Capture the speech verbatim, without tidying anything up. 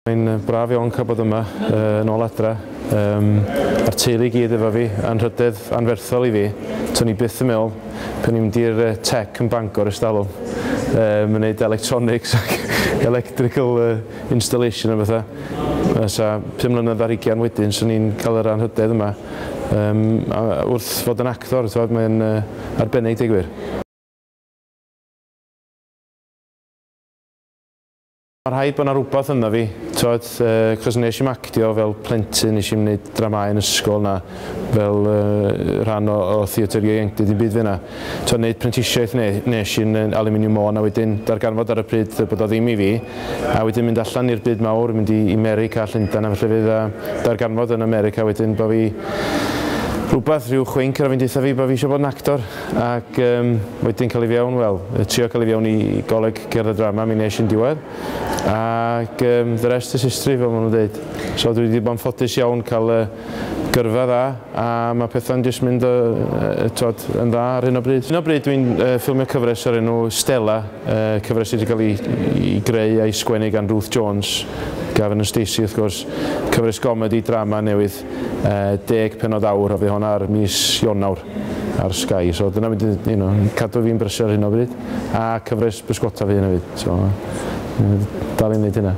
Mae'n braf iawn cael bod yma uh, yn ôl adra. Um, a'r teulu i gyd efo fi, anrhydedd anferthol i fi. To'n i byth yn meddwl, pan i'n mynd i'r uh, tech yn Bangor ers talwm, um, yn gwneud electronics ac electrical uh, installation a bethau. Sa pum mlynedd ar hugain wedyn, swn i'n cael yr anrhydedd yma. Um, a wrth fod yn actor, mae'n uh, arbennig, deud gwir. Mae rhaid bod yna rhywbeth ynddo fi, twod, uh, cos nes i'm actio fel plentyn, nes i'm wneud dramau yn ysgol na, fel uh, rhan o, o theatr ieuenctid, dim byd fyna. Twod, wneud prentisiaeth ne, nes i'n Aluminium Môn, a wedyn darganfod ar y pryd bod o ddim i fi, a wedyn mynd allan i'r byd mawr, mynd i America, Llundain a felly fydd, a darganfod yn America wedyn bod fi rhywbeth, rhyw chwinc ar fi'n deutha fi bod fi eisiau bod yn actor, ac um, wedyn cael ei fewn, wel, trio cael ei fewn i goleg cerdd a drama, mi nes i'n diwedd, ac um, the rest is history, fel maen nhw'n dweud. So dwi wedi bod yn ffodus iawn cael uh, gyrfa dda, a mae pethau'n jyst mynd uh, twod, yn dda ar hyn o bryd. Hyn o bryd dwi'n uh, ffilmio cyfres o'r enw Stella, uh, cyfres sydd wedi cael ei, ei greu a'i sgwennu gan Ruth Jones, Gavin and Stacey wrth gwrs, cyfres gomedi drama newydd, uh, deg penod awr, a fydd hwnna ar mis Ionawr ar Sky. So dyna mynd, you know, cadw fi'n brysur ar hyn o bryd, a cyfres bysgota fi hyn hefyd. So, dal i'n neud hynna.